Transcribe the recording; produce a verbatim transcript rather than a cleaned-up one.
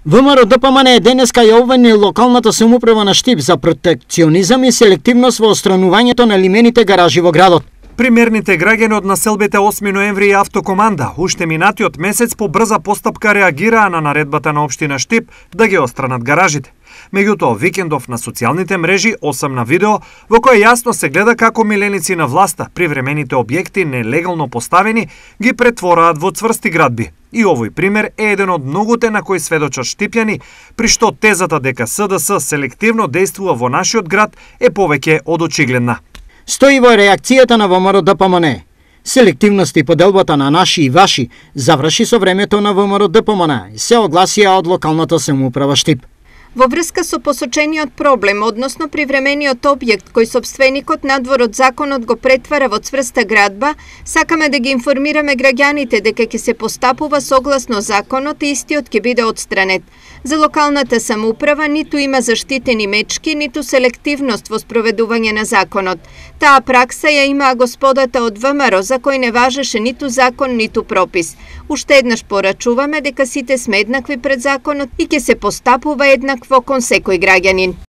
ВМРО Д П М Н денеска ја обвини локалната самоуправа на Штип за протекционизам и селективност во отстранувањето на лимените гаражи во градот. Примерните граѓани од населбите осми ноември и Автокоманда уште минатиот месец по брза постапка реагираа на наредбата на општина Штип да ги отстранат гаражите. Меѓутоа, викендов на социјалните мрежи осамна видео во кое јасно се гледа како миленици на власта привремените објекти нелегално поставени ги претвораат во цврсти градби. И овој пример е еден од многуте на кои сведочат штипјани, при што тезата дека С Д С селективно действува во нашиот град е повеќе од очигледна. Стои во реакцијата на ВМРО Д П М Н. Селективност и поделбата на наши и ваши заврши со времето на ВМРО Д П М Н, се огласија од локалната самоуправа Штип. Во врска со посочениот проблем, односно привремениот објект кој сопственикот надвор од законот го претвара во цврста градба, сакаме да ги информираме граѓаните дека ќе се постапува согласно законот и истиот ќе биде отстранет. За локалната самоуправа ниту има заштитени мечки, ниту селективност во спроведување на законот. Таа пракса ја имаа господата од В М Р, за кој не важеше ниту закон, ниту пропис. Уште еднаш порачуваме дека сите сме еднакви пред законот и ќе се постапува еднакво кон секој граѓанин.